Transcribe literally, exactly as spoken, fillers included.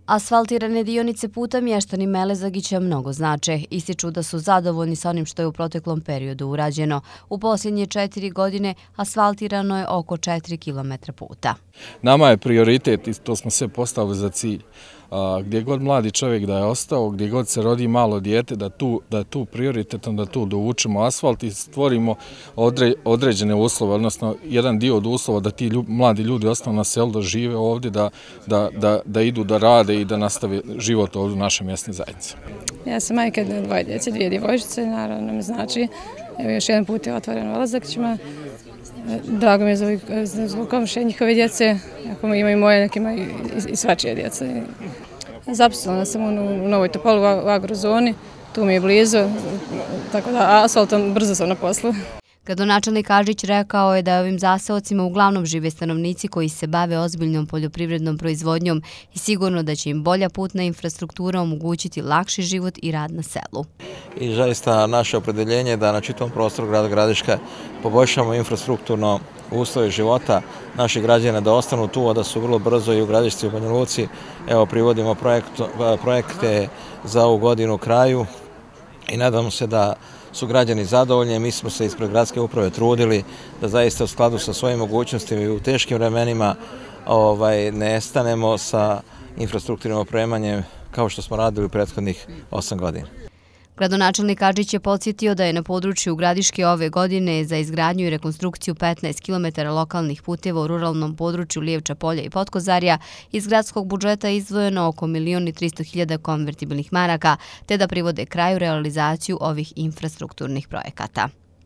Asfaltirane dionice puta mještani Melezagića mnogo znače. Ističu da su zadovoljni sa onim što je u proteklom periodu urađeno. U posljednje četiri godine asfaltirano je oko četiri kilometra puta. Nama je prioritet i to smo sve postavili za cilj. Gdje god mladi čovjek da je ostao, gdje god se rodi malo dijete, da, tu, da je tu prioritetom, da tu dovučemo asfalt i stvorimo odre, određene uslove, odnosno jedan dio od uslova da ti ljub, mladi ljudi ostanu na selu, da žive ovdje, da, da, da, da idu da rade i da nastave život ovdje u našoj mjesnoj zajednici. Ja sam majka dvoje djece, dvije djevojčice, naravno mi znači, evo još jedan put je otvoren u Melezagićima. Drago mi je zbog komšije njihove djece, ako ima i moje, nek ima i, i svačije djece. Zaposlena sam u Novoj Topoli u agrozoni, tu mi je blizu, tako da asfaltom brzo sam na poslu. Gradonačelnik Adžić rekao je da ovim zaseocima uglavnom žive stanovnici koji se bave ozbiljnom poljoprivrednom proizvodnjom i sigurno da će im bolja putna infrastruktura omogućiti lakši život i rad na selu. I zaista naše opredeljenje je da na čitavom prostoru grada Gradiška poboljšamo infrastrukturno uslove života naših građana, da ostanu tu, a da su vrlo brzo i u Gradišci i u Banja Luci. Evo, privodimo projekt, projekte za ovu godinu kraju i nadamo se da su građani zadovoljni. Mi smo se ispred gradske uprave trudili da zaista u skladu sa svojim mogućnostima i u teškim vremenima ovaj, ne stanemo sa infrastrukturnim opremanjem kao što smo radili u prethodnih osam godina. Gradonačelnik Adžić je podsjetio da je na području Gradiške ove godine za izgradnju i rekonstrukciju petnaest kilometara lokalnih puteva u ruralnom području Lijevča polja i Potkozarja iz gradskog budžeta izdvojeno oko milion i tristo hiljada konvertibilnih maraka, te da privode kraju realizaciju ovih infrastrukturnih projekata.